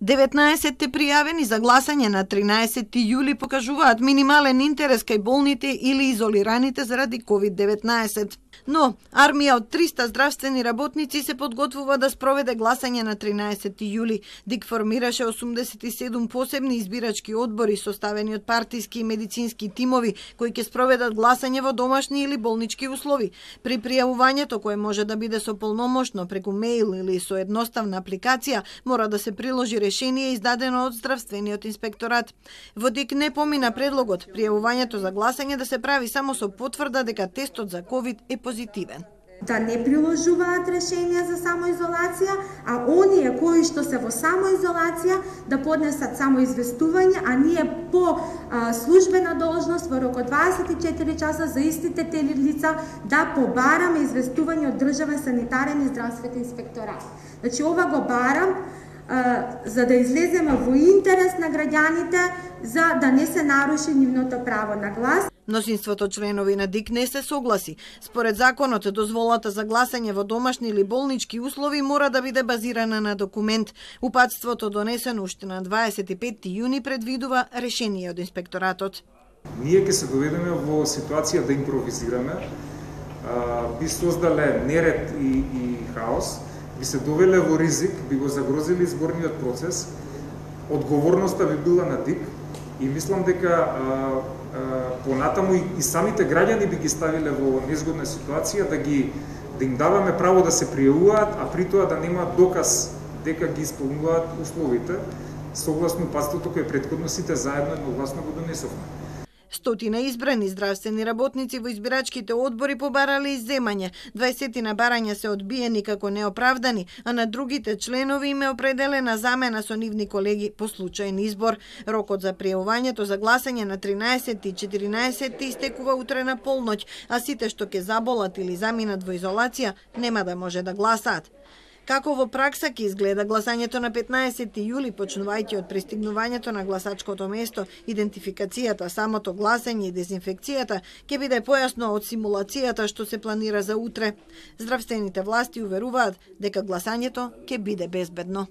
19 пријавени за гласање на 13 јули покажуваат минимален интерес кај болните или изолираните заради COVID-19. Но, армија од 300 здравствени работници се подготвува да спроведе гласање на 13 јули. ДИК формираше 87 посебни избирачки одбори составени од партиски и медицински тимови кои ќе спроведат гласање во домашни или болнички услови. При пријавувањето, кое може да биде со полномошно преку мејл или со едноставна апликација, мора да се приложи решение издадено од здравствениот инспекторат. Во ДИК не помина предлогот пријавувањето за гласање да се прави само со потврда дека тестот за COVID е позитивен. Да не приложуваат решенија за самоизолација, а оние кои што се во самоизолација да поднесат самоизвестување, а ние по службена должност во рок од 24 часа за истите тели лица да побараме известување од државен санитарен и здравствен инспекторат. Значи ова го барам за да излеземе во интерес на граѓаните, за да не се наруши нивното право на глас. Мнозинството членови на ДИК не се согласи. Според законот, дозволата за гласање во домашни или болнички услови мора да биде базирана на документ. Упатството донесено уште на 25 јуни предвидува решение од инспекторатот. Ние ќе се доведеме во ситуација да импровизираме, би создале неред и хаос, би се довеле во ризик, би го загрозили изборниот процес, одговорноста би била на ДИК и мислам дека понатаму и самите граѓани би ги ставиле во незгодна ситуација да им даваме право да се пријавуваат, а при тоа да нема доказ дека ги исполнуваат условите согласно упатството кое претходно сите заедно едногласно го донесовме. Стотина избрани здравствени работници во избирачките одбори побарале изземање. 20 барања се одбиени како неоправдани, а на другите членови им е определена замена со нивни колеги по случајен избор. Рокот за пријавувањето за гласање на 13 и 14 истекува утре на полноќ, а сите што ќе заболат или заминат во изолација нема да може да гласаат. Како во пракса ќе изгледа гласањето на 15 јули, почнувајќи од пристигнувањето на гласачкото место, идентификацијата, самото гласање и дезинфекцијата ќе биде појасно од симулацијата што се планира за утре. Здравствените власти уверуваат дека гласањето ќе биде безбедно.